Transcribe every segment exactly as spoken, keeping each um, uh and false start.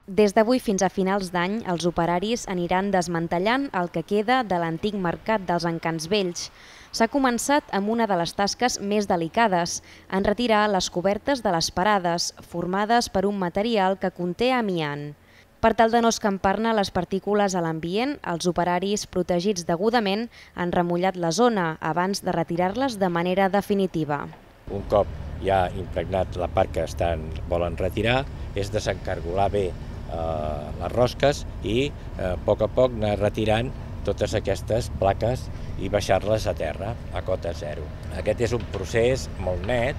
Des d'avui fins a finals d'any, els operaris aniran desmantellant el que queda de l'antic mercat dels Encants Vells. S'ha començat amb una de les tasques més delicades, en retirar les cobertes de les parades, formades per un material que conté amiant. Per tal de no escampar-ne les partícules a l'ambient, els operaris, protegits degudament, han remullat la zona abans de retirar-les de manera definitiva. Un cop ja impregnat la part que estan, volen retirar, és desencargolar bé eh, les rosques i eh, a poc a poc anar retirant totes aquestes plaques i baixar-les a terra, a cota zero. Aquest és un procés molt net,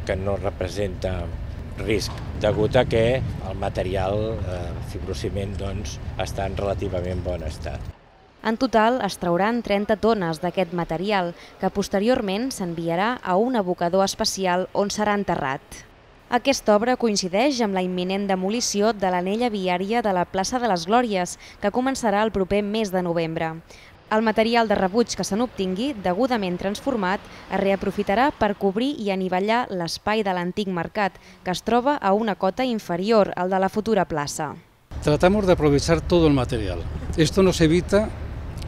que no representa risc, degut a que el material, eh, fibrociment, doncs, està en relativament bon estat. En total es trauran trenta tones d'aquest material, que posteriorment s'enviarà a un abocador especial on serà enterrat. Aquesta obra coincideix amb la imminent demolició de l'anella viària de la plaça de les Glòries, que començarà el proper mes de novembre. El material de rebuig que se n'obtingui, degudament transformat, es reaprofitarà per cobrir i anivellar l'espai de l'antic mercat, que es troba a una cota inferior al de la futura plaza. Tratamos de aprovechar todo el material. Esto nos evita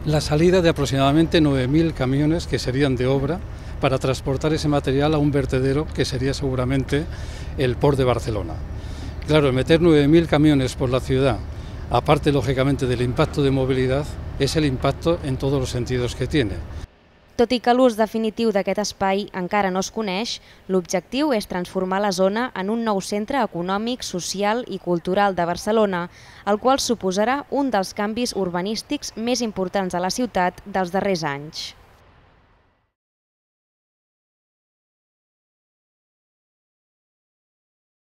la salida de aproximadamente nueve mil camiones que serían de obra para transportar ese material a un vertedero que sería seguramente el Port de Barcelona. Claro, meter nueve mil camiones por la ciudad, aparte lógicamente del impacto de movilidad, és l'impacte en tots els sentits que tiene. Tot i que l'ús definitiu d'aquest espai encara no es coneix, l'objectiu és transformar la zona en un nou centre econòmic, social i cultural de Barcelona, el qual suposarà un dels canvis urbanístics més importants a la ciutat dels darrers anys.